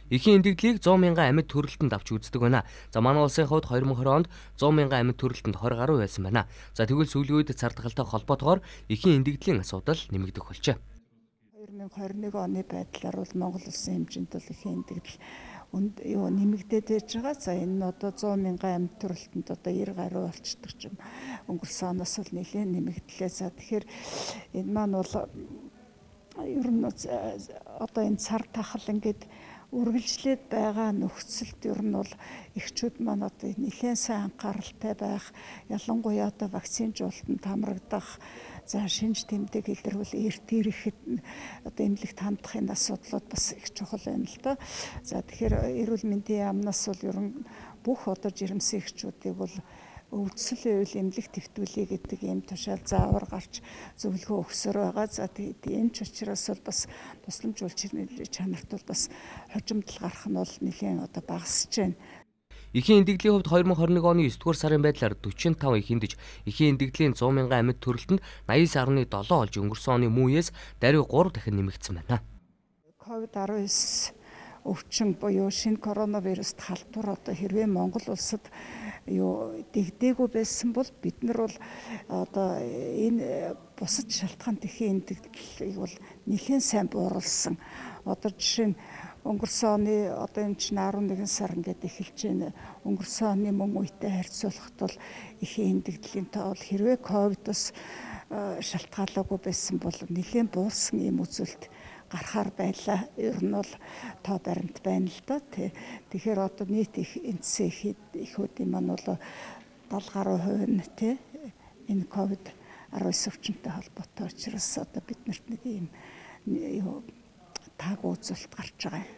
Эхийн эндэгдлийг 100 мянган амьд төрөлтөнд авч үздэг байна. За манай улсын хувьд 2020 онд 100 мянган амьд төрөлтөнд 20 гаруй байсан байна. За тэгвэл сүүлийн үед цардахалтай холбоотойгоор эхийн эндэгдлийн асуудал нэмэгдэх болжээ. 2021 оны байдлаар бол Монгол улсын хэмжээнд бол эхийн эндэгдэл нэмэгдээд байж байгаа. За энэ нь одоо 100 мянган амьд төрөлтөнд одоо 90 гаруй болчихдог ч юм. Өнгөрсөн оноос бол нэлээд нэмэгдлээ. За тэгэхээр энэ маань бол ер нь одоо энэ цар тахал ингээд үргэлжлээд байгаа нөхцөлд ер нь бол эхчүүд маань одоо нэлээд сайн анхааралтай байх, ялангуяа одоо вакцинжуулалтанд хамрагдах, за шинж тэмдэг илэрхүүл эрт ирэхэд одоо эмнэлэгт хандахын асуудлууд бас их чухал байна л да. За тэгэхээр эрүүл мэндийн яамнаас бол ер нь бүх одоо жирэмсэн эхчүүдийг бол өвдсөлийн үйл эмнэлэг төвтүүлээ гэдэг ийм тушаал заавар гарч зөвлөгөө өгсөөр байгаа. За энэ ч учраас бол бас тусламж үйлчилгээний чанарт бол бас хожимдол гарах нь бол нэлээд одоо багасж байна. Эхийн эндэгдлийн хувьд 2021 оны 9-р сарын байдлаар 45 их эндэж, эхийн эндэгдлийн 100 мянган амьд төрөлтөнд 89.7 олж өнгөрсөн оны мууяс даруй 3 дахин нэмэгдсэн байна. COVID-19 өвчин буюу шинэ коронавируст халдвар одоо хэрвээ Монгол улсад дэгдээгүй байсан бол бид нар бол одоо энэ бусад шалтгаанд эхийн эндэгдлийг бол нэлээд сайн бууруулсан. Одоо жишээ нь өнгөрсөн оны одоо энэ чинь 11 сар ингээд эхэлж байна. Өнгөрсөн оны мөн үетэй харьцуулахад бол эхийн эндэгдлийн тоо бол хэрвээ ковидос шалтгаалаагүй байсан бол нэлээд буурсан юм үзүүлэлт гарахаар байлаа. Ер нь бол тоо баримт байна л да. Тэгэхээр одоо нийт их эндсэн ихүүдийн маань бол 70 гаруй хувь нь энэ COVID-19 өвчнөд холбоотой учраас одоо биднэрт нэг ийм таг үзүүлэлт гарч байгаа юм.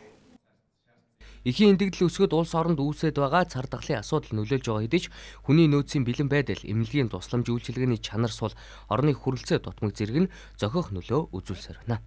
Эхийн эндэгдэл өсгөд улс оронд үүсээд байгаа цардахлын асуудал нөлөөлж байгаа хэдий ч хүний нөөцийн бэлэн байдал, эмнэлгийн тусламж үйлчилгээний чанар сул, орны хүрэлцээ дутмаг зэрэг нь зохиох нөлөө үзүүлсээр байна.